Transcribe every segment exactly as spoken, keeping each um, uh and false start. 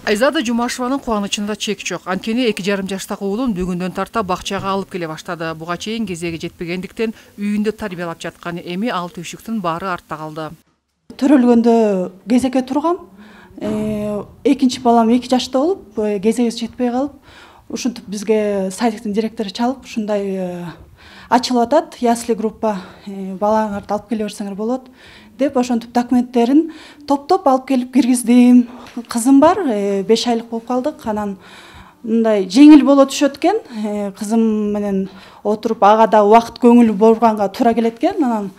Айзада Жумашеванын кубанычында чек жок. Анткени эки жарым жаштагы уулун бүгүндөн тарта бакчага алып келе баштады. Буга чейин кезеги жетпегендиктен үйүндө тарбиялап жаткан, эми ал түйшүктүн баары артта калды. Төрөлгөндө кезекке тургам. Экинчи балам эки жашта болуп, кезеги жетпей калып, ушинтип бизге садиктин директору чалып, ушундай ачылып атат, ясли группа, балаңарды алып келе берсеңер болот деп, ошентип документтерин топтоп алып келип киргиздим. Кызым бар, беш айлык болуп калдык. Анан мындай жеңил боло түшөт экен. Кызым менен отуруп ага да убакыт көңүл бурганга туура келет экен. Анан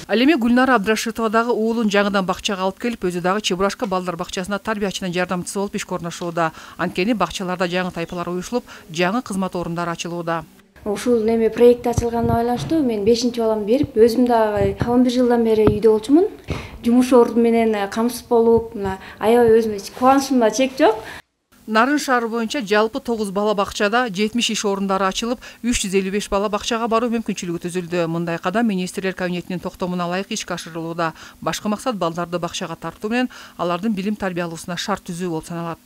Ал эми Гүлнара Абдрашитова дагы уулун жаңыдан бакчага алып келип, өзү дагы Чебурашка балдар бакчасына тарбиячынын жардамчысы болуп иш орношууда. Анткени бакчаларда жаңы тайпалар уюшулуп, жаңы кызмат орундары ачылууда. Ушул неме проект ачылганына байланыштуу мен бешинчи баламды берип, өзүм дагы он бир жылдан бери үйдө болчумун. Жумуш ордум менен камсыз болуп, мына аябай өзүмө кубанычымда чек жок. Нарын шаары боюнча жалпы тогуз бала бакчада жетимиш иш орундары ачылып, үч жүз элүү беш бала бакчага баруу мүмкүнчүлүгү түзүлдү. Мындай кадам министрлер кабинетинин токтомуна ылайык ишке ашырылууда. Башкы максат балдарды бакчага тартуу менен алардын билим тарбиялоосуна шарт түзүү болуп саналат.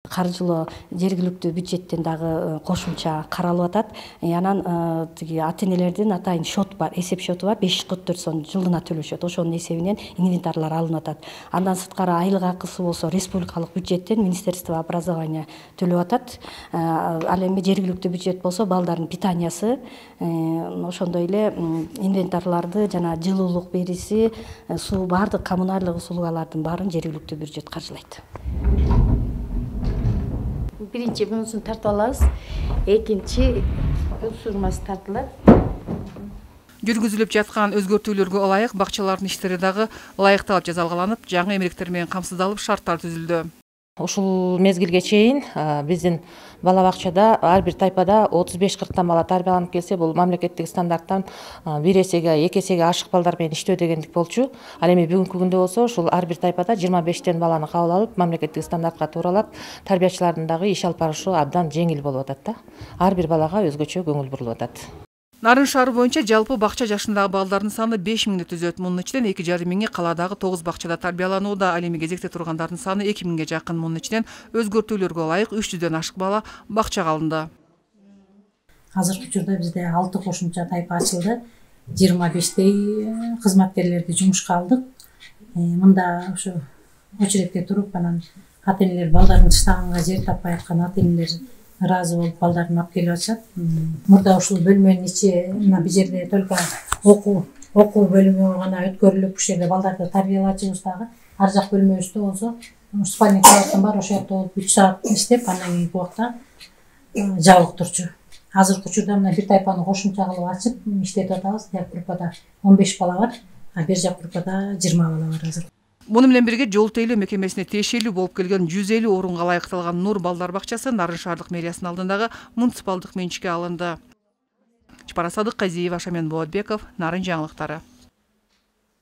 Каржылоо жергиликтүү бюджеттен дагы кошумча каралып атат. Анан тиги ата-энелердин атайын счет бар, эсеп счету бар, беш жүз кырк төрт сом жылына төлөшөт. Ошонун эсебинен инвентарлар алынып атат. Андан сырткары айлык акысы болсо республикалык бюджеттен Министерство образования төлөп атат. Ал эми жергиликтүү бюджет болсо балдардын питаниясы, ошондой эле инвентарларды жана жылуулук бериси, суу, баардык коммуналдык услугалардын баарын жергиликтүү бюджет каржылайт. Биринчи мунусун тартып алабыз, экинчи сурмасы тартылат. Жүргүзүлүп жаткан өзгөртүүлөргө ылайык бакчалардын иштери дагы ылайыкталып жазалгаланып, жаңы эмгектер менен камсыздалып, шарттар түзүлдү. Ушул мезгилге чейин биздин бала бакчада ар бир тайпада отуз беш кырктан бала тарбияланып келсе, бул мамлекеттик стандарттан бир эсеге, эки эсеге ашык балдар менен иштөө дегендик болчу. Ал эми бүгүнкү күндө болсо ушул ар бир тайпада жыйырма бештен баланы кабыл алып, мамлекеттик стандартка тууралап, тарбиячылардын дагы иш алып барышы абдан жеңил болуп атат да. Ар бир балага өзгөчө көңүл бурулуп атат. Нарын шаары боюнча жалпы бакча жашындагы балдардын саны беш миңди түзөт. Мунун ичинен эки жарым миңи каладагы тогуз бакчада тарбияланууда. Ал эми кезекте тургандардын саны эки миңге жакын. Мунун ичинен өзгөртүүлөргө ылайык үч жүздөн ашык бала бакчага алынды. Азыркы учурда бизде алты кошумча тайпа ачылды. жыйырма бештей кызматкерлерди жумушка алдык. Мында ушу очередке туруп, анан ата-энелер балдарын тыштаганга жер таппай аткан ата-энелер ыраазы болуп балдарын алып келип атышат. Мурда ушул бөлмөнүн ичи, мына бул жерде только окуу окуу бөлүмү гана өткөрүлүп, ушул жерде балдарды тарбиялачыбыз дагы. Ар жак бөлмөбүздө болсо, спальный кроваттан бар, ошол жакта болуп үч саат иштеп, андан кийинки убакта жабык турчу. Азыркы учурда мына бир тайпаны кошумча кылып ачып иштетип атабыз. Жак группада он беш бала бар, а бер жак группада жыйырма бала бар азыр. Муну менен бирге жол тейлөө мекемесине тиешелүү болуп келген жүз элүү орунга ылайыкталган Нур балдар бакчасы Нарын шаардык мэриясынын алдындагы муниципалдык менчикке алынды. Чапара Садыкказиева, Шамен Болотбеков, Нарын жаңылыктары.